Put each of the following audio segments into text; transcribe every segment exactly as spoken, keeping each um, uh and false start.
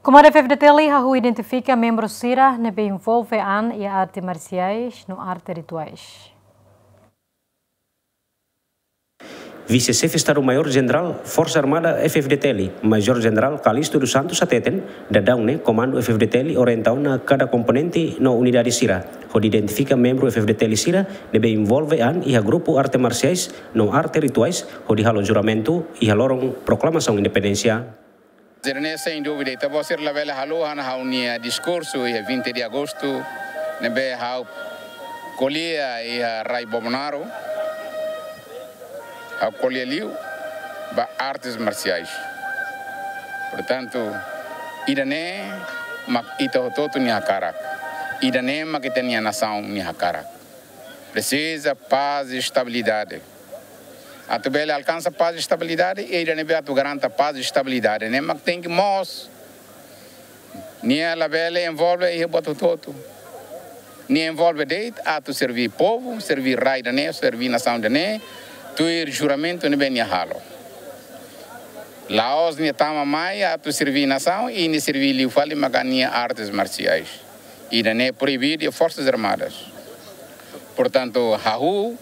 Komandu F-FDTL hahú identifika membru sira ne'ebé envolve an iha arte marsiais no arte rituais. Vise-Xefe Estadu-Maiór Jenerál Forsa Armada F-FDTL, Major Jenerál Calixto dos Santos hateten, daudaun ne'e Komandu F-FDTL orienta ona kada komponente no unidade sira hodi identifika membru F-FDTL sira ne'ebé envolve an iha grupu arte marsiais no arte rituais hodi halo juramentu iha loron proklamasaun independénsia. Sira-ne'e, sein dúvida, ita-boot sira labele haluha ona ha'u-nia diskursu iha vinte de agosto, ne'ebé ha'u ko'alia iha rai Bobonaro, ha'u ko'alia liu ba artes marsiais. Portantu, ida-ne'e mak ita hotu-hotu nia hakarak. Ida-ne'e mak ita-nia nasaun nia hakarak. Presiza pás i estabilidade. Atu bele alkansa pás i estabilidade, ida-ne'ebé atu garanta pás i estabilidade ne'e mak tenke moos. Nia labele envolve iha buat hotu-hotu. Nia envolve de'it atu serví povu, serví rai ida-ne'e, serví nasaun ida-ne'e, tuir juramentu ne'ebé nia halo. La'ós nia tama mai atu serví nasaun i nia serví liu fali maka nia artes marsiais. Ida-ne'e proibidu iha Forsas Armadas. Portantu, hahú,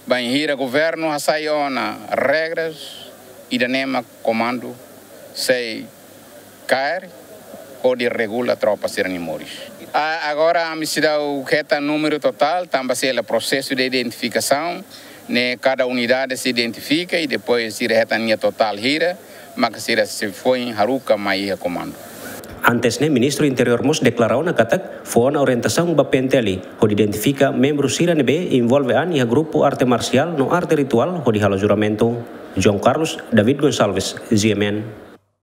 bainhira governu hasai ona regras, ida-ne'e mak komandu sei kaer hodi regula tropa sira-nia moris. A-, agora ami seidauk hetan númeru totál, tanba sei halo prosesu de identifikasaun, ne'e kada unidade sei identifika i depois sira hetan nia totál hira, maka sira sei foin haruka mai iha komandu. Antes ne'e, Ministru Interiór mós deklara ona katak fó ona orientasaun ba P N T L hodi identifika membru sira ne'ebé envolve an iha grupu arte marsiál no arte rituál hodi halo juramentu. João Carlos, David Gonçalves, G M N.